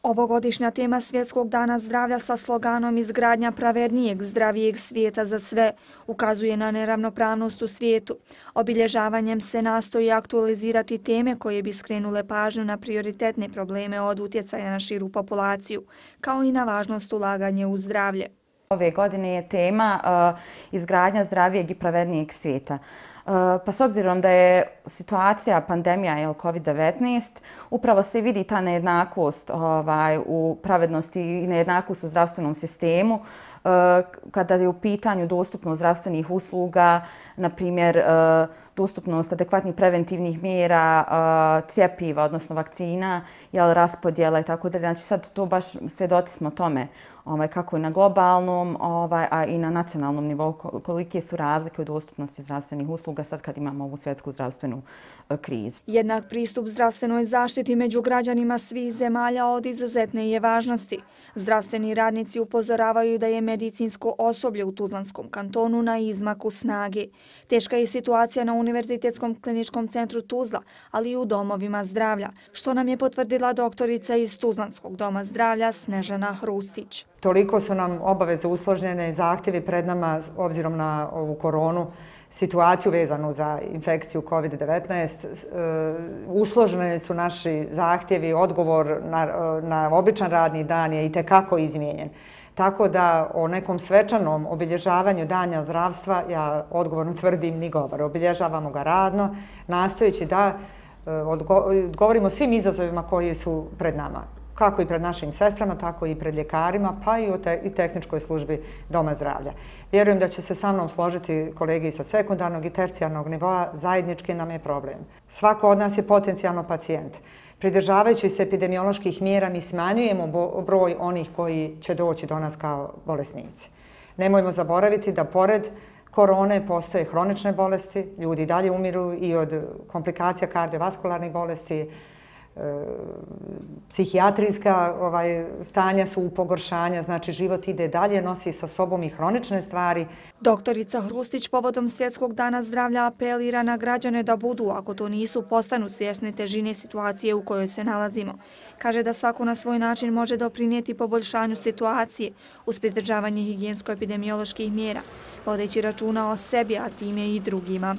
Ovogodišnja tema Svjetskog dana zdravlja sa sloganom izgradnja pravednijeg, zdravijeg svijeta za sve ukazuje na neravnopravnost u svijetu. Obilježavanjem se nastoji aktualizirati teme koje bi skrenule pažnju na prioritetne probleme od utjecaja na širu populaciju, kao i na važnost ulaganja u zdravlje. Ove godine je tema izgradnja zdravijeg i pravednijeg svijeta. Pa s obzirom da je situacija pandemija COVID-19, upravo se vidi ta nejednakost u pravednosti i nejednakost u zdravstvenom sistemu kada je u pitanju dostupnost zdravstvenih usluga, na primjer dostupnost adekvatnih preventivnih mjera, cjepiva, odnosno vakcina, raspodjela i tako dalje. Znači sad to baš svjedoci smo tome kako i na globalnom, a i na nacionalnom nivou kolike su razlike u dostupnosti zdravstvenih usluga sad kad imamo ovu svjetsku zdravstvenu krizu. Jednak pristup zdravstvenoj zaštiti među građanima svih zemalja od izuzetne je važnosti. Zdravstveni radnici upozoravaju da je medicinsko osoblje u Tuzlanskom kantonu na izmaku snage. Teška je situacija na Univerzitetskom kliničkom centru Tuzla, ali i u domovima zdravlja, što nam je potvrdila doktorica iz Tuzlanskog doma zdravlja Snežana Hrustić. Toliko su nam obaveze usložnjene i zahtjevi pred nama obzirom na ovu koronu, situaciju vezanu za infekciju COVID-19. Usloženi su naši zahtjevi, odgovor na običan radni dan je itekako izmijenjen. Tako da o nekom svečanom obilježavanju Dana zdravstva ja odgovorno tvrdim ni govor. Obilježavamo ga radno, nastojeći da odgovorimo svim izazovima koji su pred nama. Kako i pred našim sestrama, tako i pred ljekarima, pa i tehničkoj službi Doma zdravlja. Vjerujem da će se sa mnom složiti kolege sa sekundarnog i tercijarnog nivoa, zajednički nam je problem. Svako od nas je potencijalno pacijent. Pridržavajući se epidemioloških mjera, mi smanjujemo broj onih koji će doći do nas kao bolesnici. Nemojmo zaboraviti da pored korone postoje hronične bolesti, ljudi dalje umiru i od komplikacija kardiovaskularnih bolesti, psihijatrijska stanja su u pogoršanja, znači život ide dalje, nosi sa sobom i hronične stvari. Doktorica Hrustić povodom Svjetskog dana zdravlja apelira na građane da budu, ako to nisu, postanu svjesni težine situacije u kojoj se nalazimo. Kaže da svako na svoj način može doprinijeti poboljšanju situacije uz pridržavanje higijensko-epidemioloških mjera, vodeći računa o sebi, a time i drugima.